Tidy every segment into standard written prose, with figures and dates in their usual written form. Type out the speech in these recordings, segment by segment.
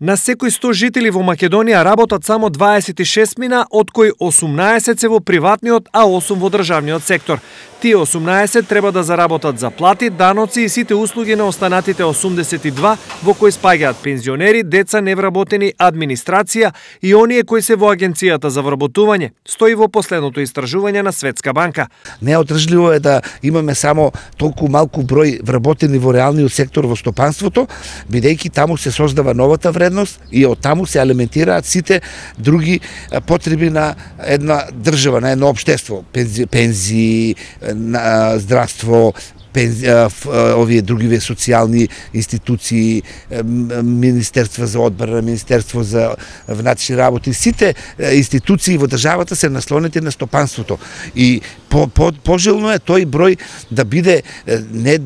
На секој 100 жители во Македонија работат само 26 мина, од кои 18 се во приватниот, а 8 во државниот сектор. Тие 18 треба да заработат за плати, даноци и сите услуги на останатите 82, во кои спаѓаат пензионери, деца невработени, администрација и оние кои се во агенцијата за вработување, стои во последното истражување на Светска банка. Неодржливо е да имаме само толку малку број вработени во реалниот сектор во стопанството, бидејќи таму се создава новата вредност и од таму се алиментираат сите други потреби на една држава, на едно општество, пензии, на здравство, овие другиве социјални институции, Министерство за одбрана, Министерство за внатрешни работи, сите институции во државата се наслонети на стопанството. И пожелно е тој број да биде не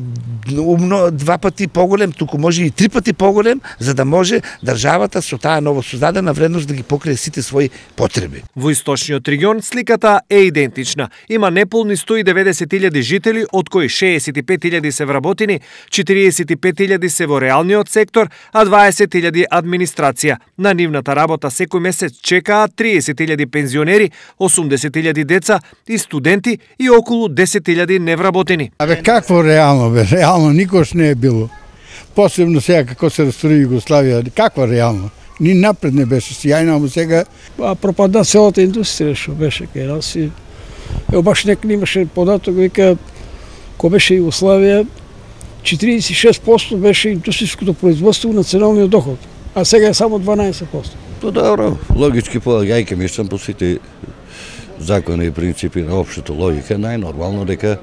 умно 2 пати поголем, туку може и 3 пати поголем, за да може државата со таа новосоздадена вредност да ги покрие сите своји потреби. Во источниот регион сликата е идентична. Има неполни 190.000 жители, од кои 65.000 се вработени, 45.000 се во реалниот сектор, а 20.000 администрација. На нивната работа секој месец чекаат 30.000 пензионери, 80.000 деца и студенти и околу 10.000 невработени. Абе какво реално бе? Реално никош не е било. Посебно сега како се раструи Југославија, каква реално? Ни напред не беше сјајно, ама сега пропадна целата индустрија што беше кај нас и баш некој имаше податок, вика кога беше Југославија 46% беше индустријското производство на националниот доход, а сега е само 12%. То добро, логички поаѓајќи мислам по сите закони и принципи на општата логика, најнормално дека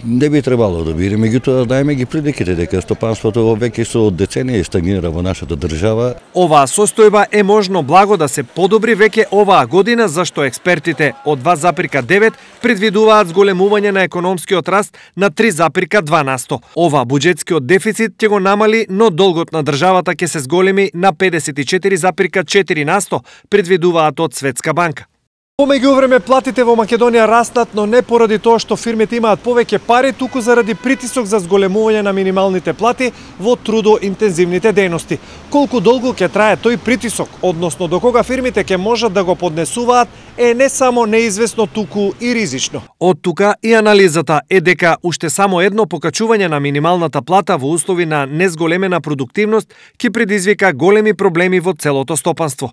не би требало да биде, меѓутоа дајме ги приликите дека стопанството веќе со децении стагнира во нашата држава. Оваа состојба е можно благо да се подобри веќе оваа година, зашто експертите од 2,9 предвидуваат зголемување на економскиот раст на 3,2%. Ова буџетскиот дефицит ќе го намали, но долгот на државата ќе се зголеми на 54,4%, предвидуваат од Светска банка. Во меѓувреме платите во Македонија растат, но не поради тоа што фирмите имаат повеќе пари, туку заради притисок за зголемување на минималните плати во трудоинтензивните дејности. Колку долго ќе трае тој притисок, односно до кога фирмите ќе можат да го поднесуваат, е не само неизвестно, туку и ризично. Од тука и анализата е дека уште само едно покачување на минималната плата во услови на незголемена продуктивност ќе предизвика големи проблеми во целото стопанство.